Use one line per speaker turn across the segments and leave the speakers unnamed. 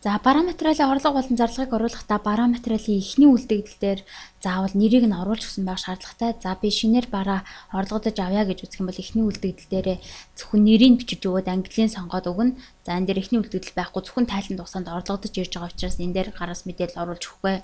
За бараа материалын орлого болон зарлагыг оруулахдаа бараа материалын эхний үлдэгдэл дээр заавал нэрийг нь оруулж өгсөн байх шаардлагатай. За би шинээр бараа орлогодож авъя гэж үзэх юм бол эхний үлдэгдэл дээрээ зөвхөн нэрийг бичиж өгөөд английн сонгоод өгнө. За энэ дээр эхний үлдэгдэл байхгүй зөвхөн тайлан дугсаанд орлогодож ирж байгаа учраас энэ дээр гараас мэдээлэл оруулж өгөхгүй.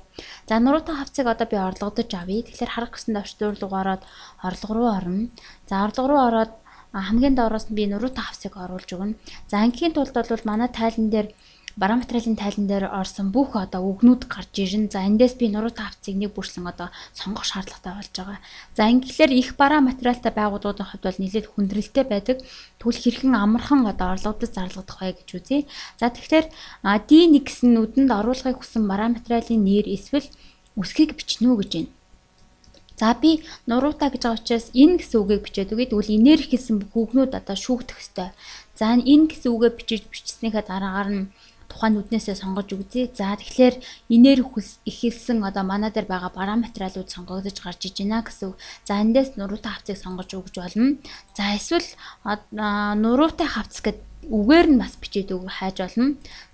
За нуруутай хавцыг одоо би орлогодож авъя. Тэгэхээр харах гэсэн давчдуурлага ороод орлого руу орно. За орлого руу ороод хамгийн доороос нь би нуруутай хавцыг оруулж өгнө. За ангийн тулд бол манай тайлан дээр бараа материалын тайлан дээр орсон бүх одоо үгнүүд гарч ирнэ. За эндээс би нуруутай хавцыг нэг бүрсэн одоо сонгох шаардлагатай болж байгаа. За ингээхээр их бараа материалтай байгууллагуудын хувьд бол нэлээд хүндрэлтэй байдаг. Тэгвэл хэрхэн амархан одоо орлогодод зарлагдах вэ гэж үзье. За тэгэхээр D1 гэсэн нүдэнд оруулахыг хүссэн бараа материалын нэр эсвэл үсгийг бичнэ үү гэж байна. За би нуруутай гэж байгаа учраас энэ гэсэн үгийг бичээд үгүй. Тэгвэл инээр хэлсэн бүх үгнүүд одоо шүүгдэх ёстой. За энэ гэсэн үгээ бичснийхээ дараагаар нь тухайн нүднээсээ сонгож үзье. За тэгэхээр инээр ихэлсэн одоо манай дээр байгаа бараа материалууд сонгогдож гарч иж байна гэсэн. За эндээс нуруутай хавцыг сонгож өгч болно. За эсвэл нуруутай хавц гэдэг үгээр нь бас бичээд хайж болно.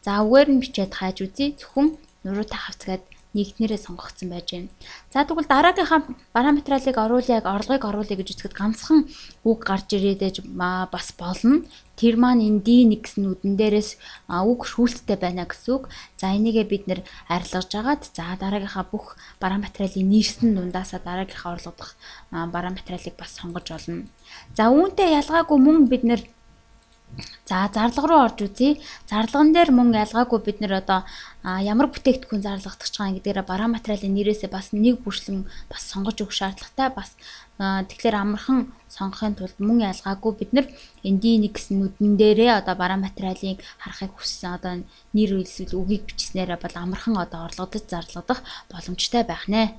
За үгээр нь бичээд хайж үзье. Зөвхөн нуруутай хавц гэдэг нэгднэрээ сонгогдсон байж байна. За тэгвэл дараагийнхаа бараа материалыг оруулъя, орлогыг оруулъя гэж үзэхэд ганцхан үг гарч ирээд бас болно. Тэр маань энэ D1 гэсэн нүдэн дээрээс үг шүүлттэй байна гэсэн үг. За энийгээ бид нэр арилгаж агаад за дараагийнхаа бүх бараа материалын нэрсэн дундаасаа дараагийнхаа орлогодох бараа материалыг бас сонгож олно. За үүнтэй ялгаагүй мөн бид нэр за зарлага руу орж үзье. Зарлаган дээр мөн ялгаагүй бид нэр одоо ямар бүтээгдэхүүн зарлагдах байгаа гэдгээр бараа материалын нэрээсээ бас нэг бүрслэн бас сонгож өгөх шаардлагатай. Бас тэгэхээр амархан сонгохын тулд мөн ялгаагүй бид нар энэ D1 гэсэн нүдэн дээрээ одоо бараа материалыг харахыг хүссэн одоо нэр үйлсэл үгийг бичснээр бол амархан одоо орлогодож зарлагдах боломжтой байх нэ.